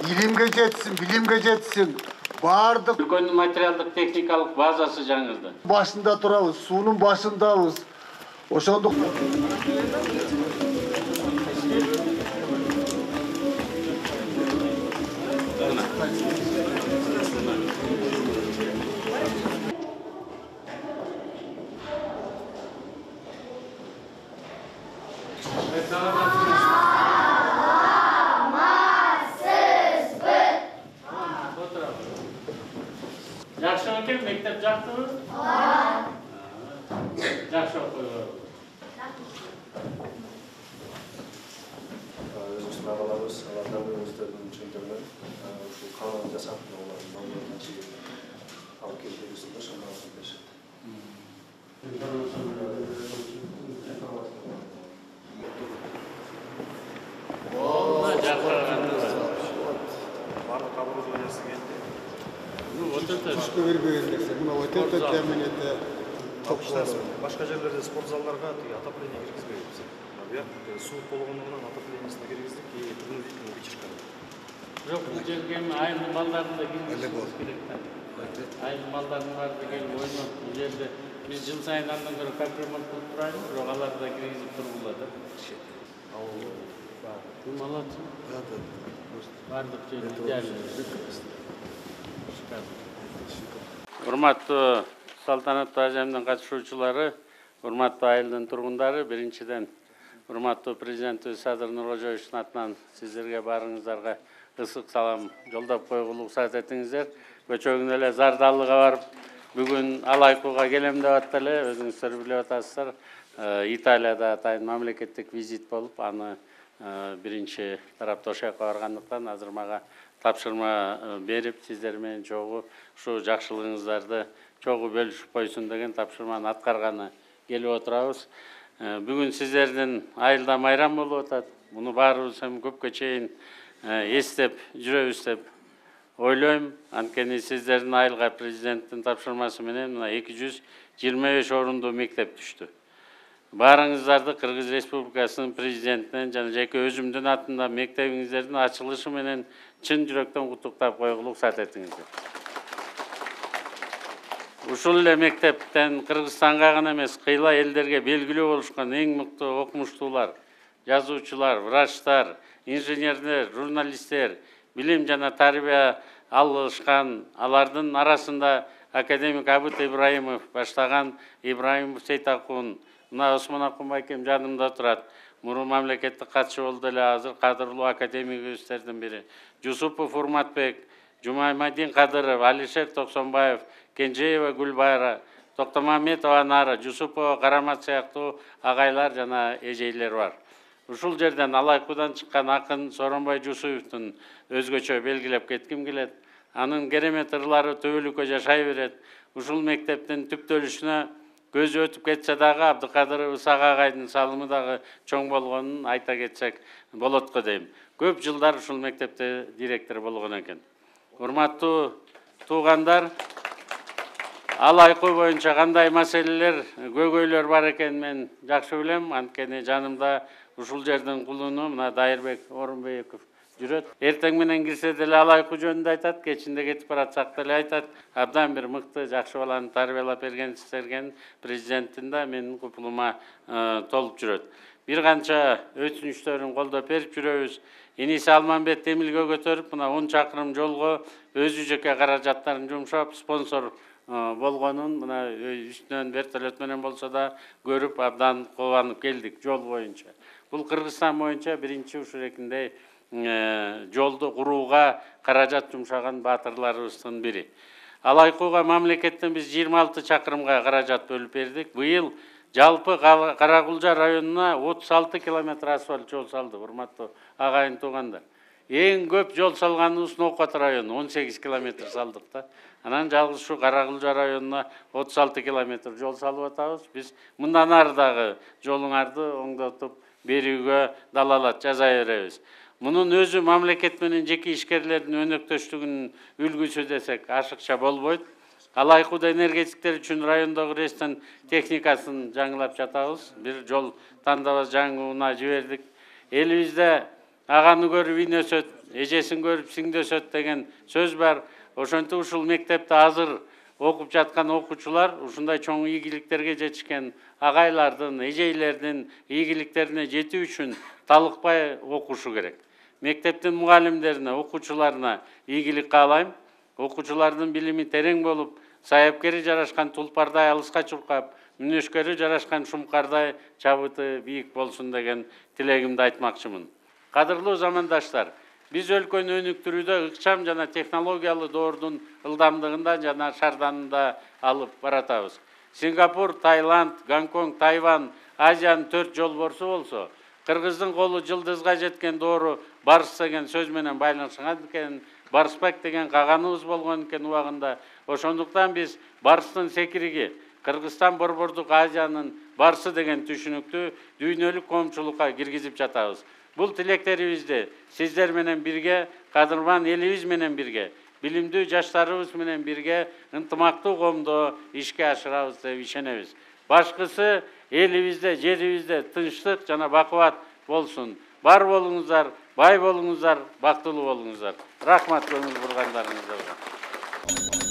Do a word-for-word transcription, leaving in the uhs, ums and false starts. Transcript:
Ilimge жетсин, билимге жетсин. Бардык өлкөнүн материалдык техникалык базасы жаңырды. Башында турабыз, суунун башындабыз. Ошондук Жакшы экен, мектеп жактыбы? Ооба. Жакшы окуйбу. Өзүбүздүн агаларыбыз, алардан өздөрүнүн чөйдөрүнөн ушул канун жасап, олардын маалыматын чыгып алып келип берүүсүндө шамалатын беришет. Бардык оборудованиясы келди. Түшкө бербеген нерсе. Мына өтөп теминете башка жерлерде спортзалдарга отопление киргизбейбиз. Буяк суу болгондугунан отоплениесине киргиздик, принудительный вычерка. Жок, бул жерге айыл балдарын да киргизиш керек да. Айыл балдарын баары келип ойноп, бул жерде биз жыл сайын андан көрө капремонт кылып турайбыз, бирок аларды да киргизип тургула да. Ал ким алат? Бардык жер идеалдуу. Урматтуу салтанаттуу ажемдин катышуучулары, урматтуу айылдын тургундары, биринчиден урматтуу президентибиз Садыр Нуркожоевичтин атынан сиздерге баарыңыздарга ысык салам жолдоп койгула уруксат этиңиздер. Көчөгүн эле Зардалыга барып, бүгүн Алайкууга келем деп атты эле, өзүңүздөр билип атасыздар. Италияда атайын мамлекеттик визит болуп, аны биринчи тарапта ошол жака баргандыктан азыр мага тапшырма берип, сиздер менен чогуу ушу жакшылыгыңыздарды чогуу бөлүшүп койсун деген тапшырманы аткарганы келип отурабыз. Бүгүн сиздердин айылда майрам болуп атат. Муну баарыбыз эми көпкө чейин эстеп жүрөбүз деп ойлойм. Анткени сиздердин айылга президенттин тапшырмасы менен мына эки жүз жыйырма беш орундуу мектеп түштү. Баарыңыздарды Кыргыз Республикасынын президентинен жана жеке өзүмдүн атында мектебиңиздердин ачылышы менен чын жүрөктөн куттуктап койгула уруксат этиңиздер. Ушул эле мектептен Кыргызстанга гана эмес, кыйла элдерге белгилүү болушкан эң мыкты окумуштуулар, жазуучулар, врачтар, инженерлер, журналисттер, билим жана тарбия алышкан. Алардын арасында академик Абыт Ибраимов баштаган Ибраимов Сейтакун, мына Осмон Акунбайкем жанымда турат. Мурун мамлекеттик катчы болду эле, азыр кадырлуу академигибиздердин бири. Жусупов Урматбек, Жумаймадин Кадыров, Алишер Токсонбаев, Кенжеева Гүлбайра, Токтомамедова Нара, Жусупова Карамат сыяктуу агайлар жана эжейлер бар. Ушул жерден Алайкуудан чыккан акын Соронбай Жусуевдун өзгөчө белгилеп кетким келет. Анын керемет ырлары төбөлүккө жашай берет. Ушул мектептин түптөлүшүнө көзү өтүп кетсе дагы Абдыкадыров Ысак агайдын салымы дагы чоң болгонун айта кетсек болот го дейм. Көп жылдар ушул мектепте директор болгон экен. Урматтуу туугандар, Алайкуу боюнча кандай маселелер, көйгөйлөр бар экен мен жакшы билем. Анткени жанымда ушул жердин кулуну мына Дайырбек Орунбеков жүрөт. Эртең менен кирсе деле Алайкуу жөнүндө айтат, кечинде кетип баратсак деле айтат. Абдан бир мыкты, жакшы баланы тарбиялап берген президенттин да менин купулума толуп жүрөт. Бир канча өтүнүчтөрүн колдоп берип жүрөбүз. Иниси Алманбет Эмилге көтөрүп, мына он чакырым жолго өзү жеке каражаттарын жумшап, спонсор болгонун мына үстүнөн вертолет менен болсо да көрүп абдан кубанып келдик жол боюнча. Бул Кыргызстан боюнча биринчи ушурекиндей жолду курууга каражат жумшаган баатырларыбыздын бири. Алайкууга мамлекеттен биз жыйырма алты чакырымга каражат бөлүп бердик. Быйыл жалпы Каракулжа районуна отуз алты километр асфальт жол салды, урматтуу агайын туугандар. эң көп жол салганыбыз Нокот району он сегиз километр салдык да. Анан жалгыз ушу Каракылжа районуна отуз алты километр жол салып атабыз. Биз мындан ары дагы жолуңарды оңдотуп берүүгө далалат жасай беребиз. Мунун өзү мамлекет менен жеке ишкерлердин өнөктөштүгүнүн үлгүсү десек ашыкча болбойт. Ал айкуудо энергетиктер үчүн райондогу рестен техникасын жаңылап жатабыз. Бир жол тандабас жаңууна жибердик. Элибизде аганы көрүп ин өсөт, эжесин көрүп сиңди өсөт деген сөз бар. Ошентип ушул мектепте азыр окуп жаткан окуучулар ушундай чоң ийгиликтерге жетишкен агайлардын, эжейлердин ийгиликтерине жетүү үчүн талыкпай окушу керек. Мектептин мугалимдерине, окуучуларына ийгилик каалайм. Окуучулардын билими терең болуп, саяпкери жарашкан тулпардай алыска чуркап, мүнөшкөрү жарашкан шумкардай чабыты бийик болсун деген тилегимди айтмакчымын. Кадырлуу замандаштар, биз өлкөнү өнүктүрүүдө ыкчам жана технологиялуу доордун ылдамдыгында жана шарданында алып баратабыз. Сингапур, Таиланд, Гонконг, Тайвань Азиянын төрт жолборсу болсо, Кыргыздын колу жылдызга жеткен доору барыс деген сөз менен байланышкан экен, барыспак деген каганыбыз болгон экен убагында. Ошондуктан биз барыстын секириги Кыргызстан борбордук Азиянын барысы деген түшүнүктү дүйнөлүк коомчулукка киргизип жатабыз. Бул тилектерибизди сиздер менен бирге, кадырман элибиз менен бирге, билимдүү жаштарыбыз менен бирге ынтымактуу коомдо ишке ашырабыз деп ишенебиз. Башкысы элибизде, жерибизде тынчтык жана бакубат болсун. Бар болуңуздар, бай болуңуздар, бактылуу болуңуздар. Рахмат көңүл бургандарыңыздарга.